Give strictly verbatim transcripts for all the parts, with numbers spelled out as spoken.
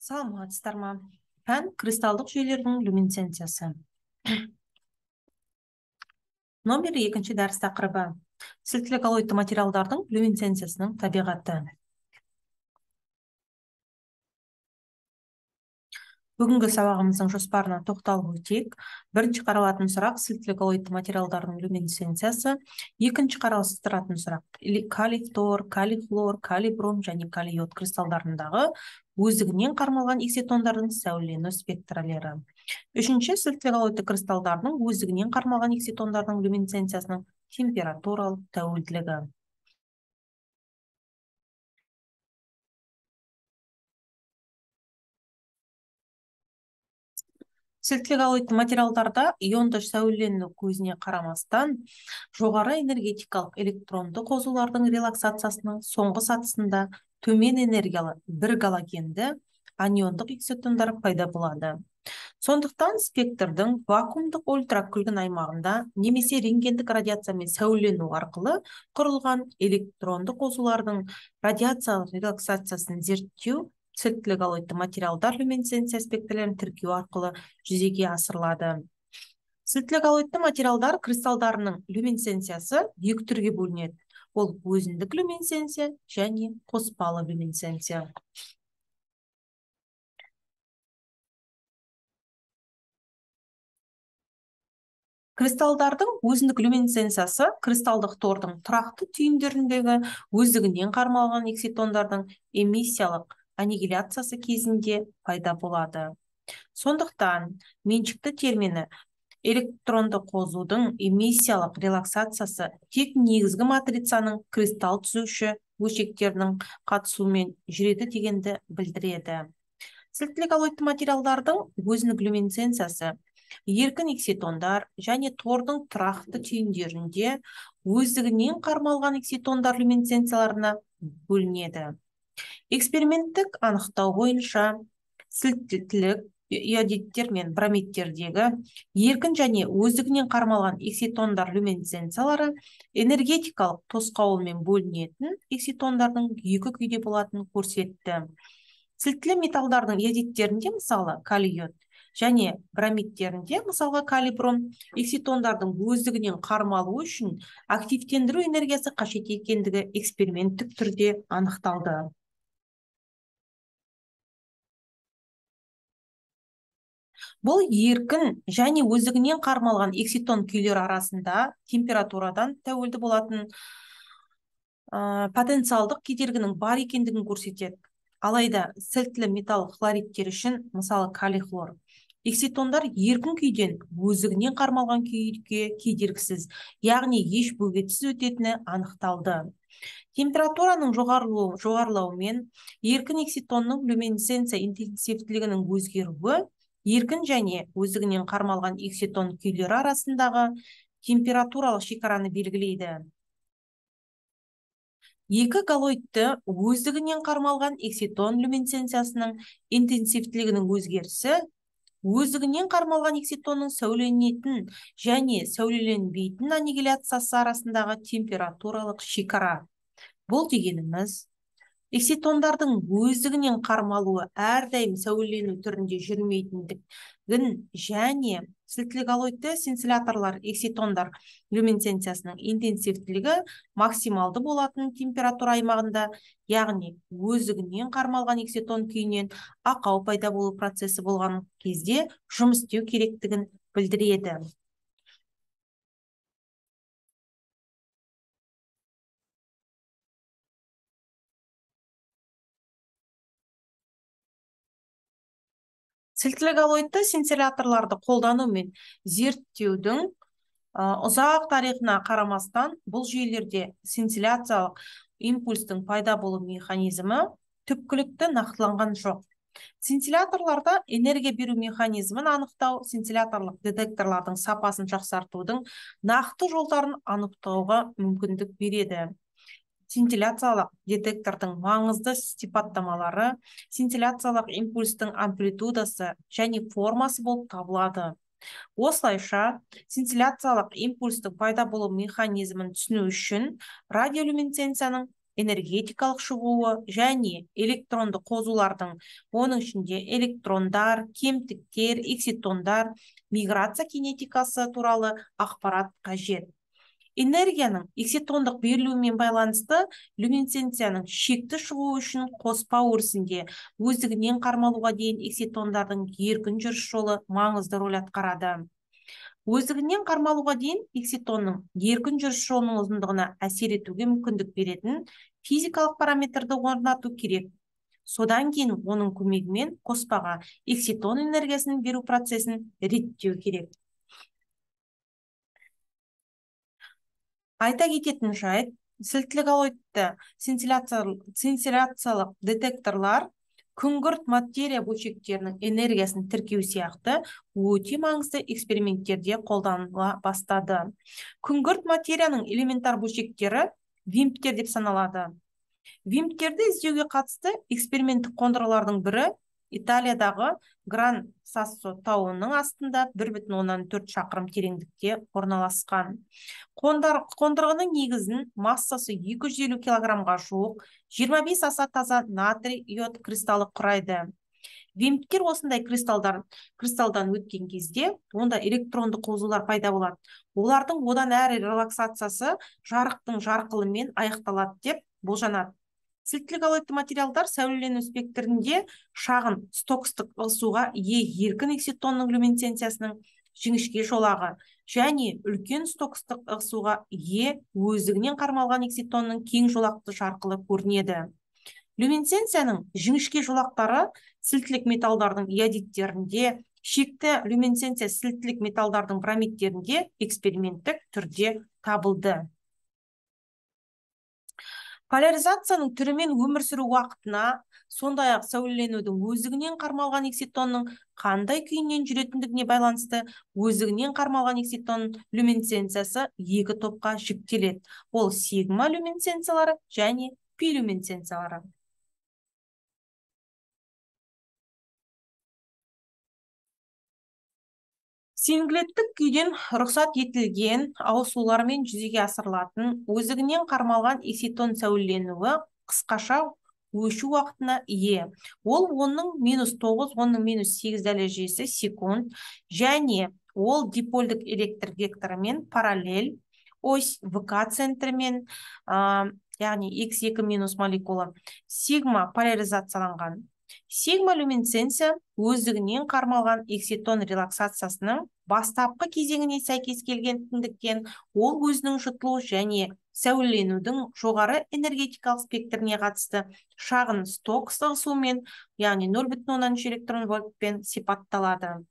Саламатсыздар ма? Пән кристалдық жүйелердің люминесценциясы. Номер екінші дәріс тақырыбы. Сілтілі коллоидты материалдардың люминесценциясының табиғаты. Бүгінгі сабағымыздың жоспарына тоқталып өтейік. Бірінші қаралатын сұрақ сілтілі коллоидты материалдардың люминесценциясы. Екінші қарастыратын сұрақ калий фтор, калий хлор, калий бром және калий йод кристалдарындағы өздігінен қармалған экситондардың сәулелену спектралері. Үшінші сілтілі коллоидты кристалдардың өздігінен қармалған экситондардың люминесценциясының температуралық тәуелділігі. Сілтілі коллоидты материалдарда ионды сәулелену көзіне қарамастан, жоғары энергетикалық электронды қосулардың релаксациясының соңғы сатысында төмен энергиялы бір галогенді аниондық экситондар пайда болады. Сондықтан спектрдің вакуумдық ультракүлгін аймағында немесе рентгендік радиациямен сәулелену арқылы құрылған электронды қосулардың радиациялық релаксациясын зерттеу сілтілі коллоидты материалдар люминесценция спектрлерін тіркеу арқылы жүзеге асырылады. Сілтілі коллоидты материалдар кристалдарының люминесценциясы екі түрге бөлінеді. Ол өзіндік люминесценция және қоспалы люминесценция. Кристалдардың өзіндік люминесценциясы кристалдық тордың тұрақты түйіндеріндегі өздігінен қармалған экситондардың эмиссиялық аннигиляциясы кезінде пайда болады. Сондықтан меншікті термині электронды қозудың эмиссиялық релаксациясы тек негізгі матрицаның кристалл түзуші бөлшектерінің қатысуымен жүреді дегенді білдіреді. Сілтілі коллоидты материалдардың өзіндік люминесценциясы еркін экситондар және тордың тұрақты түйіндерінде өздігінен қармалған экситондар люминесценцияларына бөлінеді. Эксперименттік анықтау бойынша сілтілік иодидтер мен бромидтердегі еркін және өздігінен қармалған экситондар люминесценциялары энергетикалық тосқауылмен бөлінетін экситондардың екі күйде болатынын көрсетті. Сілтілі металдардың иодидтерінде, мысалы, калий йод және бромидтерінде, мысалға калий бром, экситондардың өздігінен қармалу үшін активтендіру энергиясы қажет екендігі эксперименттік түрде анықталды. Бұл еркін және өздігінен қармалған экситон күйлер арасында температурадан тәуелді болатын ә, потенциалдық кедергінің бар екендігін көрсетеді. Алайда сілтілі металл хлоридтер үшін, мысалы калий хлор, экситондар еркін күйден өздігінен қармалған күйге кедергісіз, яғни еш бөгетсіз өтетіні анықталды. Температураның жоғарылауымен еркін экситонның люминесценция интенсивтілігінің өзгеруі еркін және өздігінен қармалған экситон күйлері арасындағы температуралық шекараны белгілейді. Екі коллоидты өздігінен қармалған экситон люминесценциясының интенсивтілігінің өзгерісі өздігінен қармалған экситонның сәулеленетін және сәулеленбейтін аннигиляциясы арасындағы температуралық шекара. Бұл дегеніміз, экситондардың өздігінен қармалуы әрдайым сәулелену түрінде жүрмейтіндігін және сілтілі коллоидты сцинцилляторлар экситондар люминесценциясының интенсивтілігі максималды болатын температура аймағында, яғни өздігінен қармалған экситон күйінен ақау пайда болу процесі болған кезде жұмыс істеу керектігін білдіреді. Сілтілі коллоидты сцинцилляторларды қолдану мен зерттеудің ұзақ тарихына қарамастан, бұл жүйелерде сцинцилляциялық импульстың пайда болу механизмі түпкілікті нақтыланған жоқ. Сцинцилляторларда энергия беру механизмін анықтау сцинцилляторлық детекторлардың сапасын жақсартудың нақты жолдарын анықтауға мүмкіндік береді. Сцинцилляциялық детектордың маңызды сипаттамалары сцинцилляциялық импульстың амплитудасы және формасы болып табылады. Осылайша, сцинцилляциялық импульстың пайда болу механизмін түсіну үшін радиолюминесценцияның энергетикалық шығуы және электронды қозулардың, оның ішінде электрондар, кемтіктер, экситондар, миграция кинетикасы туралы ақпарат қажет. Энергияның экситондық берілуімен байланысты люминесценцияның шекті шығуы үшін қоспа өрісінде өздігінен қармалуға дейін экситондардың еркін жүріс жолы маңызды рөл атқарады. Өздігінен қармалуға дейін экситонның еркін жүріс жолының ұзындығына әсер етуге мүмкіндік беретін физикалық параметрді орнату керек. Содан кейін оның көмегімен қоспаға экситон энергиясын беру процесін реттеу керек. Айта кететін жайт, сілтілік алоидты синтиляциялық детекторлар күңгірт материя бөлшектерінің энергиясын тіркеу сияқты өте маңызды эксперименттерде қолданыла бастады. Күңгірт материяның элементар бөлшектері вимптер деп саналады. Вимптерді іздеуге қатысты эксперименттік қондырғылардың бірі Италиядағы Гран Сассо тауының астында бір бүтін оннан төрт шақырым тереңдікте орналасқан. Қондырғының негізін массасы екі жүз елу килограммға жуық жиырма бес аса таза натрий йод кристаллы құрайды. Вимптер осындай кристалдар, кристалдан өткен кезде онда электронды қозулар пайда болады. Олардың одан әрі релаксациясы жарықтың жарқылымен аяқталады деп болжанады. Сілтілік алоидты материалдар сәулелену спектрінде шағын стокстық ығысуға ие еркін экситонның люминесценциясының жіңішке жолағы және үлкен стокстық ығысуға ие өздігінен қармалған экситонның кең жолақты жарқылы көрінеді. Люминесценцияның жіңішке жолақтары сілтілік металдардың иодидтерінде, шекті люминесценция сілтілік металдардың бромидтерінде эксперименттік түрде табылды. Поляризацияның түрімен өмір сүру уақытына, сондай-ақ сәулеленудің өздігінен қармалған экситонның қандай күйінен жүретіндігіне байланысты өздігінен қармалған экситонның люминесценциясы екі топқа жіктеледі. Ол сигма люминесценциялары және пи люминесценциялары. Синглеттік күйден рұқсат етілген ауысулармен жүзеге асырылатын өздігінен қармалған экситон сәулеленуі қысқаша өшу уақытына ие. Ол онның минус тоғыз, онның минус сегіз дәрежесі секунд және ол дипольдік электр векторымен параллель ось ВК центрімен, яғни икс екі минус молекула сигма поляризацияланған. Сигма люминесценция өздігінен қармалған экситон релаксациясының бастапқы кезеңіне сәйкес келгендіктен ол өзінің жұтылу және сәулеленудің жоғары энергетикалық спектріне қатысты шағын сток ығысуымен, яғни нөл бүтін оннан үш электрон вольтпен сипатталады.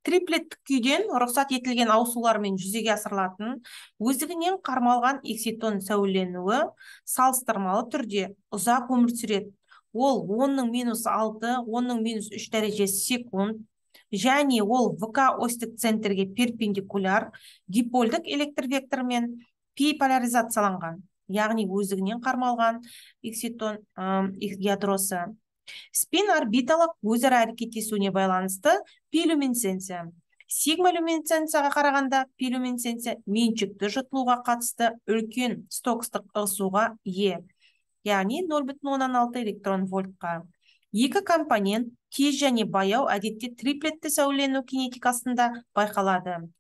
Триплеттік күйден рұқсат етілген ауысулармен жүзеге асырылатын өздігінен қармалған экситон сәулеленуі салыстырмалы түрде ұзақ өмір сүреді. Ол онның минус алты, онның минус үш дәрежесі секунд және ол ВК остік центрге перпендикуляр дипольдік электр векторымен пи поляризацияланған, яғни өздігінен қармалған экситон ядросы. Спин орбиталық өзара әрекеттесуіне байланысты пи люминесценция. Сигма люминесценцияға қарағанда пи люминесценция меншікті жұтылуға қатысты үлкен стокстық ығысуға ие, яғни нөл бүтін оннан алты электрон вольтқа. Екі компонент тез және баяу әдетте триплетті сәулелену кинетикасында байқалады.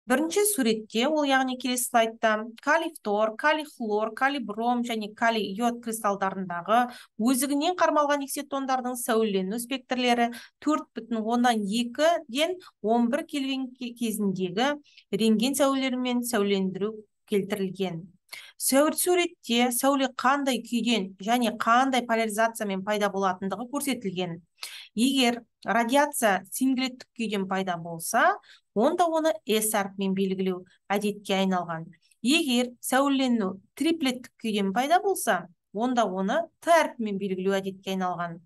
Бірінші суретте, ол яғни келесі слайдта, калий-фтор, калий-хлор, калий-бром және калий-йод кристалдарындағы өздігінен қармалған экситондардың сәулелену спектрлері төрт бүтін оннан екіден он бір кельвин кезіндегі рентген сәулелерімен сәулелендіру келтірілген. Суретте сәуле қандай күйден және қандай поляризациямен пайда болатындығы көрсетілген. Егер радиация синглеттік күйден пайда болса, онда оны S әрпімен белгілеу әдетке айналған. Егер сәулелену триплеттік күйден пайда болса, онда оны Т әрпімен белгілеу әдетке айналған.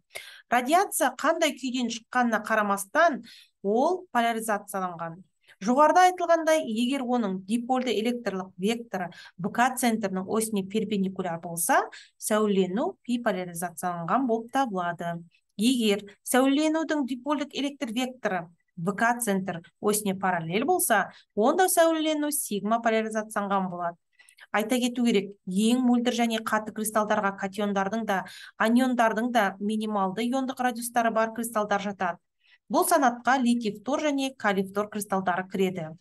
Радиация қандай күйден шыққанына қарамастан, ол поляризацияланған. Жоғарыда айтылғандай, егер оның дипольды электрлік векторы ВК центрінің осіне перпендикуляр болса, сәулелену пи поляризацияланған болып табылады. Егер сәулеленудің дипольдік электр векторы вэ ка центр осіне параллель болса, онда сәулелену сигма поляризацияланған болады. Айта кету керек, ең мөлдір және қатты кристалдарға катиондардың да, аниондардың да минималды иондық радиустары бар кристалдар жатады. Бұл санатқа литий фтор және калий фтор кристалдары кіреді.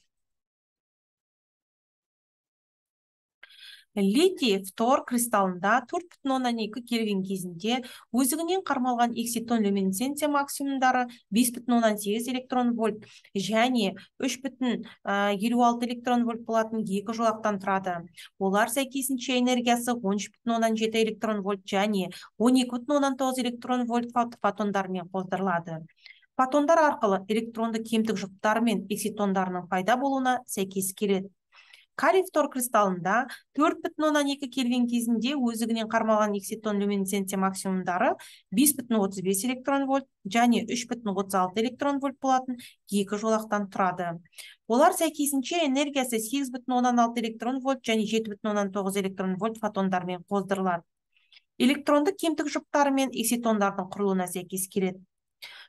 Литий фтор кристаллында төрт бүтін оннан екі кельвин кезінде өзігінен қармалған экситон люминесценция максимумдары бес бүтін оннан сегіз электрон вольт және үш бүтін елу алты электрон вольт болатын екі жолақтан тұрады. Олар сәйкесінше энергиясы он үш бүтін оннан жеті электрон вольт және он екі бүтін оннан тоғыз электрон вольт фотондармен қоздырылады. Фотондар арқылы электронды кемтік жұптары мен экситондарының пайда болуына сәйкес келеді. Калий фтор кристаллында төрт бүтін оннан екі кельвин кезінде өзігінен қармалған экситон люминесценция максимумдары бес бүтін отыз бес электрон вольт және үш бүтін отыз алты электрон вольт болатын екі жолақтан тұрады. Олар сәйкесінше энергиясы сегіз бүтін оннан алты электрон вольт және жеті бүтін оннан тоғыз электрон вольт фотондармен қоздырылады. Электронды кемтік жұптары мен экситондардың құрылуына сәйкес келеді.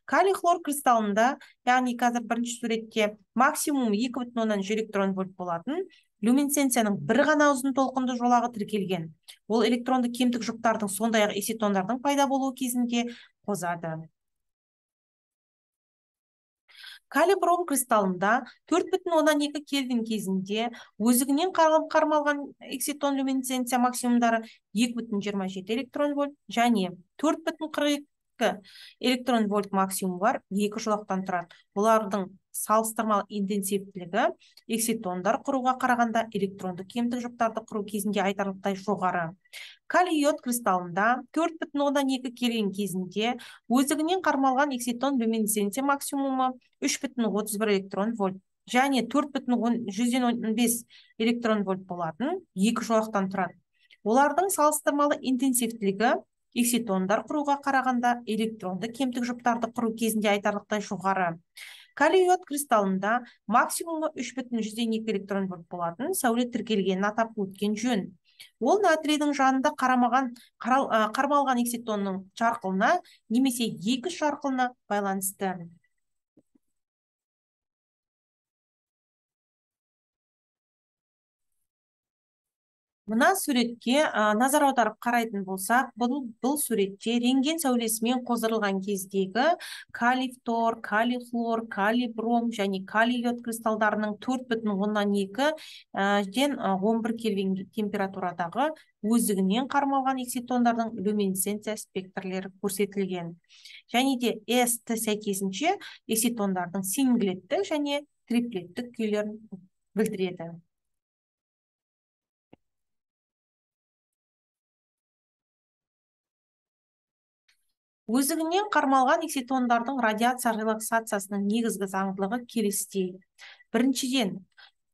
Калий хлор кристаллында, яғни қазір бірінші суретте максимум екі бүтін оннан үш электрон вольт болатын люминесценцияның бір ғана ұзын толқынды жолағы тіркелген. Ол электронды кемтік жұптардың сондай-ақ экситондардың пайда болуы кезінде қозады. Калий бром кристаллында төрт бүтін оннан екі кельвин кезінде өзігінен қармалған экситон люминесценция максимумдары екі бүтін жиырма жеті электрон вольт және төрт бүтін қырық екі электрон вольт максимум бар екі жолақтан тұрады. Олардың салыстырмалы интенсивтілігі экситондар құруға қарағанда электронды кемтік жұптарды құру кезінде айтарлықтай жоғары. Калий йод кристаллында төрт бүтін оннан екі кельвин кезінде өзігінен қармалған экситон люминесценция максимумы үш бүтін отыз бір электрон вольт және төрт бүтін жүзден он бес электрон вольт болатын екі жолақтан тұрады. Олардың салыстырмалы интенсивтілігі экситондар құруға қарағанда электронды кемтік жұптарды құру кезінде айтарлықтай жоғары. Калий йод кристаллында максимумы үш бүтін жүзден екі электрон вольт болатын сәуле тіркелгенін атап өткен жөн. Ол натрийдің жанында қарамаған, қармалған экситонның жарқылына немесе екі жарқылына байланысты. Мына суретке назар аударып қарайтын болсақ, бұл, бұл суретте рентген сәулесімен қоздырылған кездегі калий фтор, калий хлор, калий бром және калий йод кристалдарының төрт бүтін оннан екі ден он бір кельвин температурадағы өзігінен қармалған экситондардың люминесценция спектрлері көрсетілген. Және де S-ті сәйкесінше экситондардың синглеттік және триплеттік күйлерін білдіреді. Өзігінен қармалған экситондардың радиация релаксациясының негізгі заңдылығы келесідей. Біріншіден,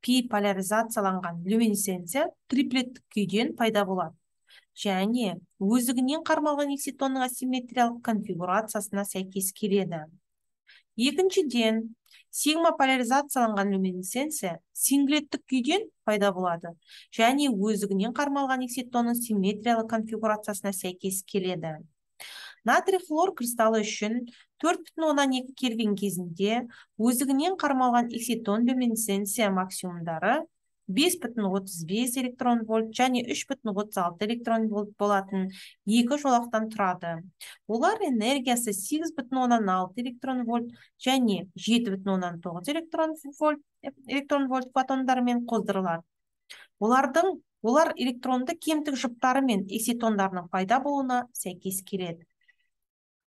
пи поляризацияланған люминесценция триплеттік күйден пайда болады. Және өзігінен қармалған экситонның асимметриялық конфигурациясына сәйкес келеді. Екіншіден, сигма поляризацияланған люминесценция синглеттік күйден пайда болады. Және өзігінен қармалған экситонның симметриялық конфигурациясына сәйкес келеді. Натрий хлор кристалы үшін төрт бүтін оннан екі кельвин кезінде өзігінен қармалған экситон люминесценция максимумдары бес бүтін отыз бес электрон вольт және үш бүтін отыз алты электрон вольт болатын екі жолақтан тұрады. Олар энергиясы сегіз бүтін оннан алты электрон вольт және жеті бүтін оннан тоғыз электрон вольт, электрон вольт фотондарымен қоздырылады. Олардың, олар электронды кемтік жұптары мен экситондарының пайда болуына сәйкес келеді.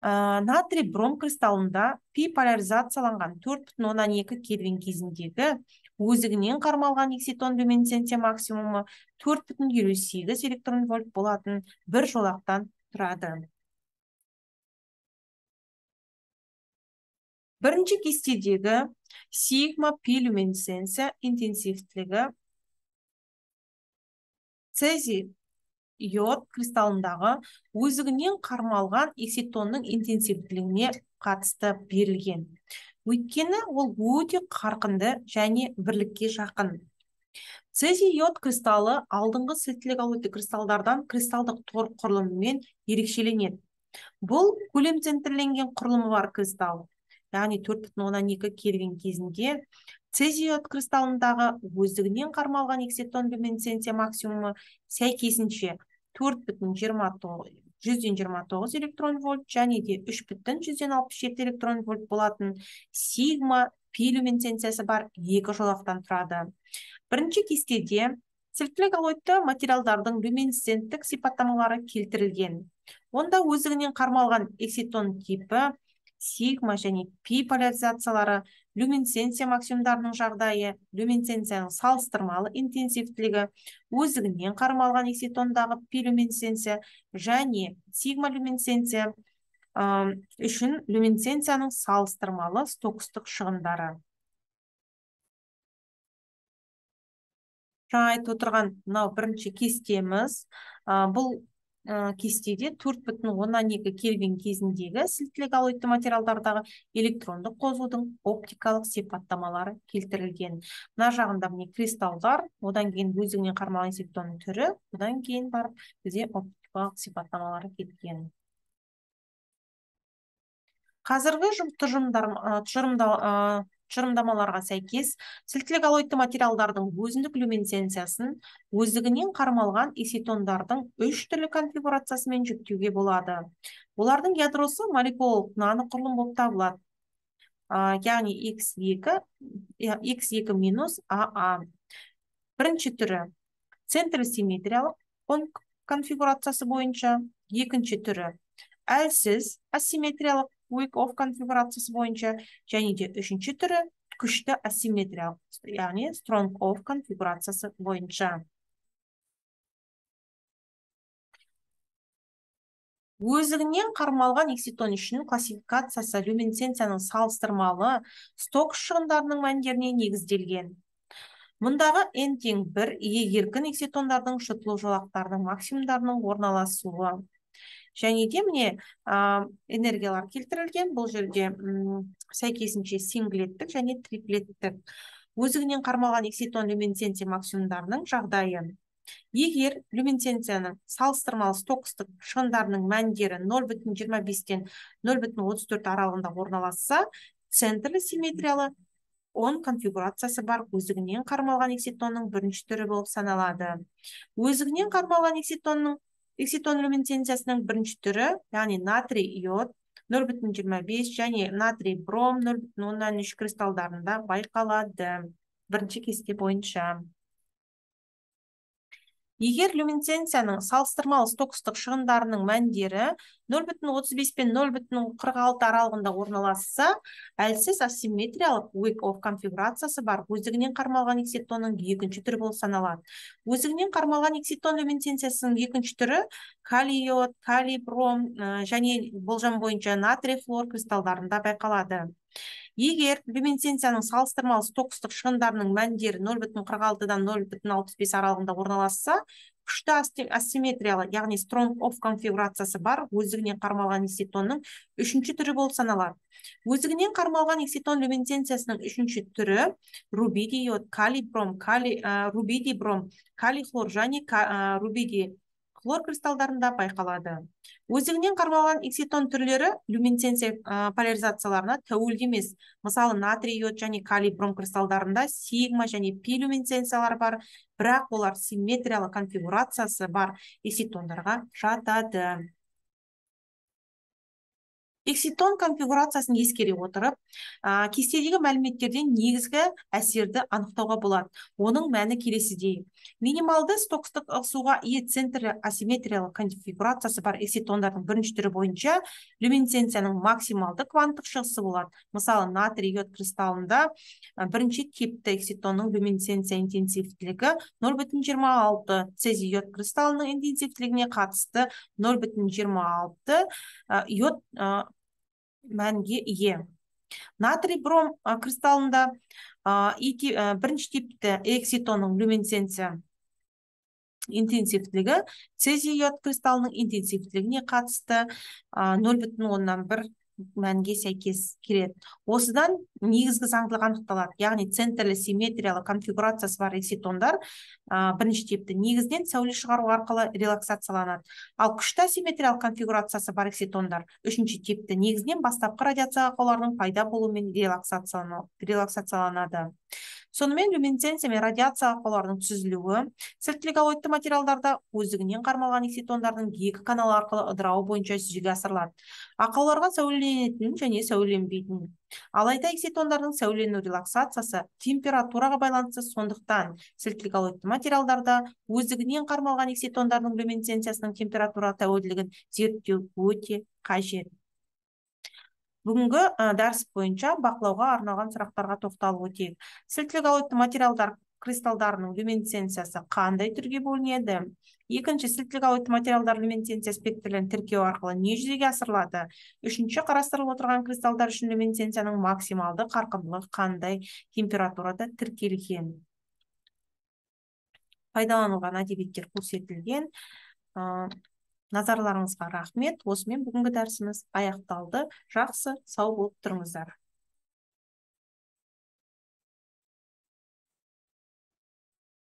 Натрий бром кристаллында пи поляризацияланған төрт бүтін оннан екі кельвин кезіндегі өзігінен қармалған экситон люминесценция максимумы төрт бүтін елу сегіз электрон вольт болатын бір жолақтан тұрады. Бірінші кестедегі сигма пи люминесценция интенсивтілігі цезий йод кристаллындағы өзігінен қармалған экситонның интенсивтілігіне қатысты берілген. Өйткені ол өте қарқынды және бірлікке жақын. Цезий йод кристаллы алдыңғы сілтілік алуды кристалдардан кристалдық тор құрылымымен ерекшеленеді. Бұл көлем центрленген құрылымы бар кристалл. яғни төрт бүтін оннан екі кельвин кезінде цезий йод кристаллындағы өздігінен қармалған экситон люминесценция максимумы сәйкесінше төрт бүтін жиырма тоғыз жүзден жиырма тоғыз электрон вольт және де үш бүтін жүзден алпыс жеті электрон вольт болатын сигма пи люминесценциясы бар екі жолақтан тұрады. Бірінші кестеде сілтілі коллоидты материалдардың люминесценттік сипаттамалары келтірілген. Онда өздігінен қармалған экситон типі, сигма және пи поляризациялары, люминесценция максимумдарының жағдайы, люминесценцияның салыстырмалы интенсивтілігі, өздігінен қармалған экситондағы пи люминесценция және сигма люминесценция үшін люминесценцияның салыстырмалы стокстық шығындары. Жаңа айтып отырған мынау бірінші кестеміз. Бұл кестеде төрт бүтін оннан екі кельвин кезіндегі сілтілі коллоидты материалдардағы электрондық қозудың оптикалық сипаттамалары келтірілген. Мына жағында міне кристалдар, одан кейін өздігінен қармалған экситонның түрі, одан кейін барып бізде оптикалық сипаттамалары келген. Қазіргі тұжырымдамаларға сәйкес сілтілі коллоидты материалдардың өзіндік люминесценциясын өздігінен қармалған экситондардың үш түрлі конфигурациясымен жүктеуге болады. Олардың ядросы молекулалық наноқұрылым болып табылады. Яғни икс екі минус а а. Бірінші түрі центр симметриялық конфигурациясы бойынша, екінші түрі әлсіз асимметриялық Wyckoff конфигурациясы бойынша, және де үшінші түрі күшті асимметриялық, яғни Strong-Off конфигурациясы бойынша. Өздігінен қармалған экситон үшін классификациясы люминесценцияның салыстырмалы сток шығындарының мәндеріне негізделген. Мұндағы n тең бір еркін экситондардың шытылу жолақтарының максимумдарының орналасуы. Және де міне энергиялар келтірілген. Бұл жерде сәйкесінше синглеттік және триплеттік. Өздігінен қармалған экситон люминесценция максимумдарының жағдайы. Егер люминесценцияның салыстырмалы стокстық шығындарының мәндері нөл бүтін жиырма бестен нөл бүтін отыз төрт аралығында орналасса, центрлі симметриялы он конфигурациясы бар өздігінен қармалған экситонның бірінші түрі болып саналады. Өздігінен қармалған экситонның экситон люминесценциясының бірінші түрі, яғни натрий йод нөл бүтін жиырма бес және натрий бром нөл бүтін оннан үш кристалдарында байқалады. Бірінші кесте бойынша. Егер люминесценцияның салыстырмалы стокстық шығындарының мәндері нөл бүтін отыз бес пен нөл бүтін қырық алты аралығында орналасса, әлсіз асимметриялық Wyckoff конфигурациясы бар өздігінен қармалған экситонның екінші түрі болып саналады. Өздігінен қармалған экситон люминесценциясының екінші түрі калий йод, калий бром және болжам бойынша натрий хлор кристалдарында байқалады. Егер люминесценцияның салыстырмалы стокстық шығындарының мәндері нөл бүтін қырық алтыдан нөл бүтін алпыс бес аралығында орналасса, күшті асимметриялы, яғни Strong-Off конфигурациясы бар өздігінен қармалған экситонның үшінші түрі болып саналады. Өздігінен қармалған экситон люминесценциясының үшінші түрі рубидий йод, калий бром, рубидий бром, калий хлор және рубидий хлор кристалдарында байқалады. Өздігінен қармалған экситон түрлері люминесценция поляризацияларына тәуелді емес. Мысалы, натрий йод және калий бром кристалдарында сигма және пи люминесценциялар бар, бірақ олар симметриялы конфигурациясы бар экситондарға жатады. Экситон конфигурациясын ескере отырып, кестедегі мәліметтерден негізгі әсерді анықтауға болады. Оның мәні келесідей. Минималды стокстық ығысуға ие центрлі асимметриялық конфигурациясы бар экситондардың бірінші түрі бойынша люминесценцияның максималды кванттық шығысы болады. Мысалы, натрий йод кристаллында бірінші типті экситонның люминесценция интенсивтілігі нөл бүтін жиырма алты, цезий йод кристаллының интенсивтілігіне қатысты нөл бүтін жиырма алты йод мәнге ие. Натрий бром кристаллында бірінші типті экситонның люминесценция интенсивтілігі цезий йод кристаллының интенсивтілігіне қатысты нөл бүтін оннан бір мәнге сәйкес келеді. Осыдан негізгі заңдылық анықталады. Яғни центрлі симметриялы конфигурациясы бар экситондар бірінші типті негізінен сәуле шығару арқылы релаксацияланады. Ал күшті асимметриялық конфигурациясы бар экситондар үшінші типті негізінен бастапқы радиация ақауларының пайда болуымен релаксацияланады. Сонымен люминесценция мен радиация ақауларының түзілуі сілтілі коллоидты материалдарда өздігінен қармалған экситондардың екі канал арқылы ыдырауы бойынша жүзеге асырылады. Ақауларға сәулеленетін және сәулеленбейтін. Алайда экситондардың сәулелену релаксациясы температураға байланысты, сондықтан сілтілі коллоидты материалдарда өздігінен қармалған экситондардың люминесценциясының температура тәуелділігін зерттеу өте қажет. Бүгінгі дәріс бойынша бақылауға арналған сұрақтарға тоқталып өтейік. Сілтілі коллоидты материалдар кристалдарының люминесценциясы қандай түрге бөлінеді? Екінші, сілтілі коллоидты материалдар люминесценция спектрлерін тіркеу арқылы не жүзеге асырылады? Үшінші, қарастырылып отырған кристалдар үшін люминесценцияның максималды қарқындылығы қандай температурада тіркелген? Пайдаланылған әдебиеттер көрсетілген. Назарларыңызға рахмет. Осымен бүгінгі дәрісіміз аяқталды. Жақсы, сау болып тұрыңыздар.